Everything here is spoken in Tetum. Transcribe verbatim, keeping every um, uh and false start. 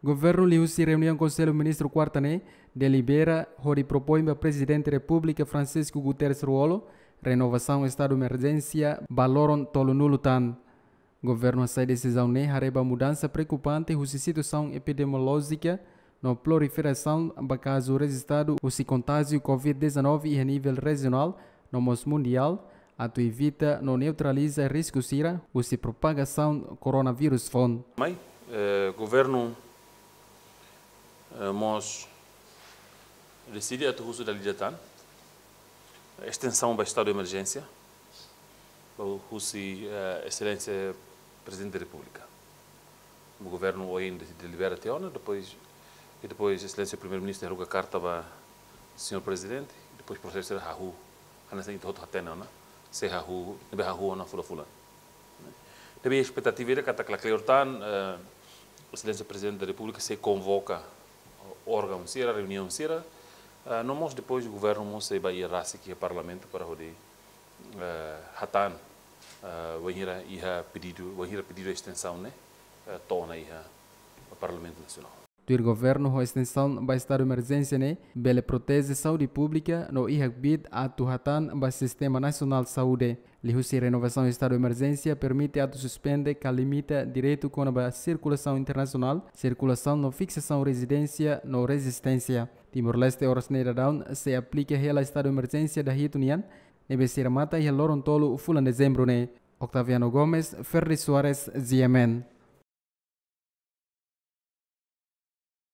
Governu liuhusi reuniaun Konsellu Ministru kuarta ne'e delibera hodi propoin ba Prezidente Repúblika Francisco Guterres Lú-Olo renovasaun estadu emerjénsia ba loron tolunulu tan. Governu hasai desizaun ne'e haree ba mudansa preokupante husi situasaun epidemiolójika no proliferasaun ba kazu rejistadu husi kontájiu covid dezanove iha nivel rejionál no mós mundiál, atu evita no neutraliza risku sira husi propagasaun koronavírus foun. Mai, eh, governu, eh, mós deside atu husu dala ida tan estensaun ba estadu emerjénsia, ba husi, eh, Exelénsia Prezidente da Repúblika. O governu ohin de-, delibera tiha ona, depois, e depois Exelénsia Primeiru-Ministru haruka karta ba señór Prezidente, e depois prosesu sira hahú, hanesan ita hotu hatene ona, sei hahú, ne'ebé hahú ona fulan-fulan. Ne'ebé espetativa ida katak la kleur tan, eh, Exelénsia Prezidente da Repúblika sei konvoka órgaun sira, reuniaun sira, eh, no mós depois governu mós sei bá iha rasik iha Parlamentu para hodi, eh, hatán, eh, wainhira iha pedidu, wainhira pedidu estensaun ne'e, eh, to'o ona iha Parlamentu Nasionál. Tuir governu, ho estensaun ba estadu emerjénsia ne'e bele proteje saúde públika no iha kbiit atu hatán ba sistema nasionál saúde. Liuhusi renovasaun estadu emerjénsia permite atu suspende ka limita direitu kona-ba sirkulasaun internasionál, sirkulasaun no fiksasaun rezidénsia no rezisténsia. Timor-Leste oras ne'e daudaun sei aplika hela estadu emerjénsia dahitu nian, ne'ebé sei remata iha loron tolu fulan Dezembru ne'e. Octaviano Gomes, Ferdi Soares, G M N.